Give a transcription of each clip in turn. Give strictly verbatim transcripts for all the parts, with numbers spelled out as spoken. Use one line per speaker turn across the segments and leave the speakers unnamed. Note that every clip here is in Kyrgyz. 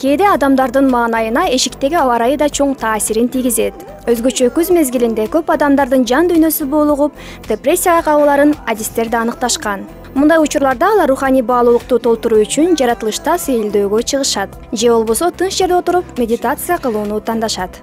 Кээде адамдардын маанайына эшиктеги аба ырайы да чоң таасирин тийгизет. Өзгөчө күз мезгилинде көп адамдардын жан дүйнөсү боолугуп, депрессияга кабыларын адистер да аныкташкан. Мындай учурларда алар руханий баалуулукту толтуруу үчүн жаратылышта сейилдөөгө чыгышат же болбосо тынч жерде отуруп медитация кылууну тандашат.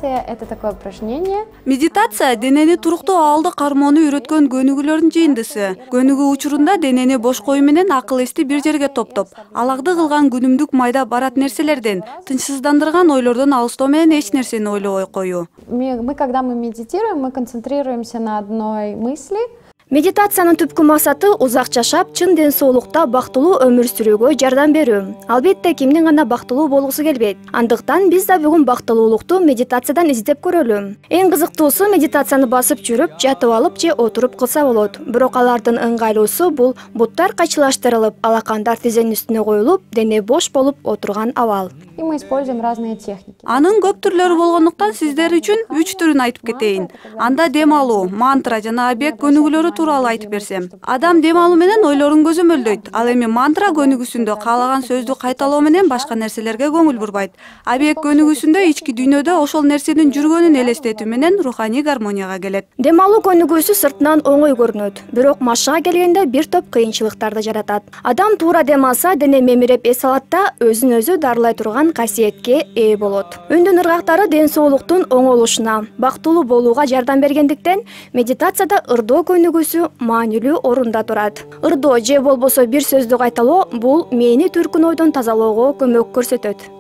Это такое упражнение.
Медитация денени туруктуу абалда кармоону үйрөткөн көнүгүүлөрдүн жыйындысы. Көнүгүү учурунда денени бош коюу менен акыл эсти бир жерге топтоп, аларды кылган күнүмдүк майда барат нерселерден, тынчсыздандырган ойлордон алыстоо менен эч нерсени ойлобой коюу.
Мы, когда мы медитируем, мы концентрируемся на одной мысли.
Медитациянын түпкү максаты узак жашап, чын ден соолукта бактылуу өмүр сүрүүгө жардам берүү. Албетте кимдин гана бактылуу болгусу келбейт. Андыктан биз да бүгүн бактылуулукту медитациядан издеп көрөлү. Эң кызыктуусу медитацияны басып жүрүп, жатып алып же отуруп кылса болот. Бирок алардын ыңгайлуусу бул буттар кайчылаштырылып, алакандар тизенин үстүнө коюлуп, дене бош болуп отурган абал.
И мы используем разные техники.
Анын көп түрлөрү болгондуктан сиздер үчүн үч түрүн айтып кетейин. Анда дем алуу, мантра жана объект көнүгүүлөрү тууралуу айтып берсем. Адам дем алуу менен ойлорун көзөмөлдөйт. Ал эми мантра көнүгүүсүндө каалаган сөздү кайталоо менен башка нерселерге көңүл бурбайт. Объект көнүгүүсүндө ички дүйнөдө ошол нерсенин жүргөнүн элестетүү менен руханий гармонияга келет.
Дем алуу көнүгүүсү сыртынан оңой көрүнөт, бирок машыга келгенде бир топ кыйынчылыктарды жаратат. Адам туура дем алса, дене мемиреп эс алат да өзүн өзү дарылай турган касиетке ээ болот. Үндүн ыргактары ден соолуктун оңолушуна, бактылуу болууга жардам бергендиктен медитацияда ырдоо көнүгүүсү маанилүү орунда турат. Ырдоо же болбосо бир сөздү кайталоо бул мээни түркүн ойдон тазалоого көмөк көрсөтөт.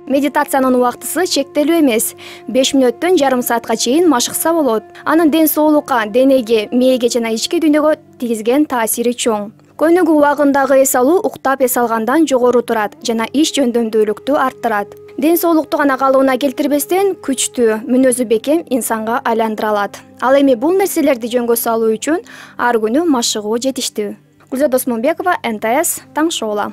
Медитациянын убактысы чектелүү эмес. беш мүнөттөн жарым саатка чейин машыкса болот. Анын ден соолукка, денеге, мээге жана ички дүйнөгө тийгизген таасири чоң. Көнүгүү убагындагы эс алуу уктап эс алгандан жогору турат жана иш жөндөмдүүлүктү арттырат. Ден соолукту гана калыбына келтирбестен күчтүү, мүнөзү бекем инсанга айландыра алат. Ал эми бул нерселерди жөнгө салуу үчүн ар күнү машыгуу жетиштүү. Гүлзат Досмонбекова, эн тэ эс, Таң шоула.